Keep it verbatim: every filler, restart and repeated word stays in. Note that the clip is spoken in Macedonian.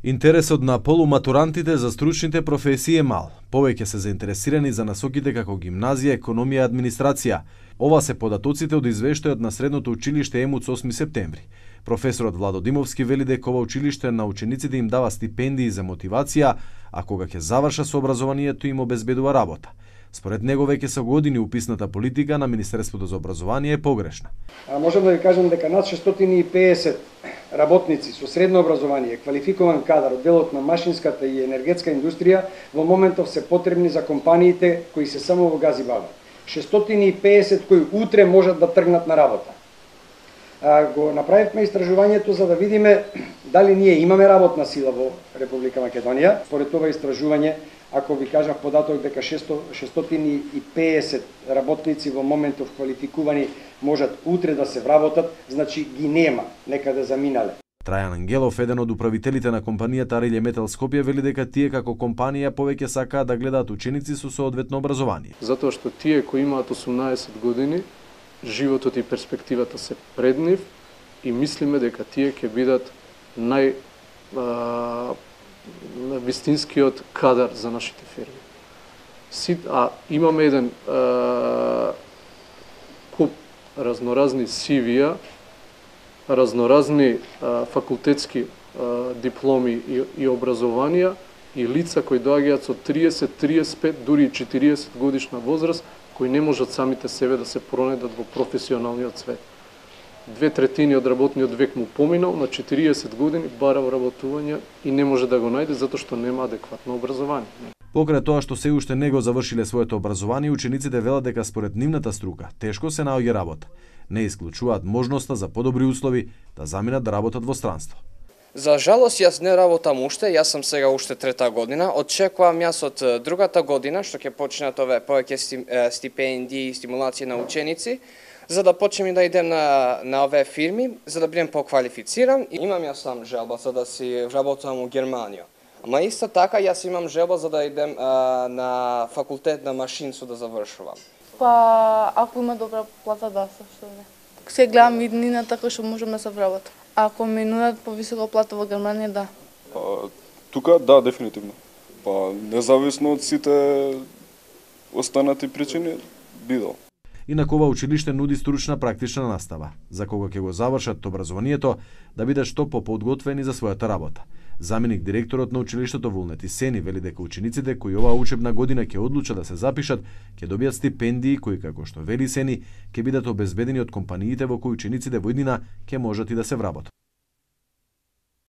Интересот на полуматурантите за стручните професии е мал. Повеќе се заинтересирани за насоките како гимназија, економија и администрација. Ова се податоците од извештајот на средното училиште ЕМУЦ осми септември. Професорот Владо Димовски вели дека ова училиште на учениците им дава стипендии за мотивација, а кога ќе заврша со образованието им обезбедува работа. Според него веќе со години уписната политика на Министерството за образование е погрешна. А можам да ви кажам дека над шестстотини и педесет работници со средно образование, квалификуван кадар од делот на машинската и енергетска индустрија во моментов се потребни за компаниите кои се само во газ и баба. шестстотини и педесет кои утре можат да тргнат на работа. А, го направивме истражувањето за да видиме дали ние имаме работна сила во Република Македонија. Според ова истражување, ако ви кажав податок дека шестстотини и педесет работници во моментов квалификувани можат утре да се вработат, значи ги нема, некаде заминале. Трајан Ангелов, еден од управителите на компанијата Арилје Метал Скопје, вели дека тие како компанија повеќе сакаат да гледаат ученици со соодветно образование. Затоа што тие кои имаат осумнаесет години, животот и перспективата се пред нив и мислиме дека тие ќе бидат нај а, вистинскиот кадар за нашите фирми. Си, а имаме еден а, куп разноразни сивија, разноразни а, факултетски а, дипломи и, и образованија и лица кои доаѓаат со триесет, триесет и пет, дури и четириесет годишна возраст, кои не можат самите себе да се пронедат во професионалниот свет. Две третини од работниот век му поминал, на четириесет години бара вработување и не може да го најде затоа што нема адекватно образование. Покрај тоа што се уште не го завршиле своето образование, учениците велат дека според нивната струка тешко се наоѓа работа. Не исклучуваат можноста за подобри услови да заминат да работат во странство. За жалост, јас не работам уште, јас сум сега уште трета година. Очекувам јас од другата година, што ќе почнат ове повеќе стипендии и стимулации на ученици, за да почнем и да идем на, на ове фирми, за да бидем поквалифициран. Имам јас сам желба за да си работам во Германија. Ама исто така, јас имам желба за да идем а, на факултет на машинство да завршувам. Па, ако има добра плата, да, што не. Се гледам иднината кој што можам да се вработам. Ако ми нудат повисока плата во Германија, да. Па, тука, да, дефинитивно. Па, независно од сите останати причини, бидел. Инаку ова училиште нуди стручна практична настава, за кога ќе го завршат образованието, да бидат што поподготвени за својата работа. Заменик директорот на училиштето Вулнети Сени вели дека учениците кои оваа учебна година ќе одлучат да се запишат, ќе добијат стипендии кои, како што вели Сени, ќе бидат обезбедени од компаниите во кои учениците во иднина ќе можат и да се вработат.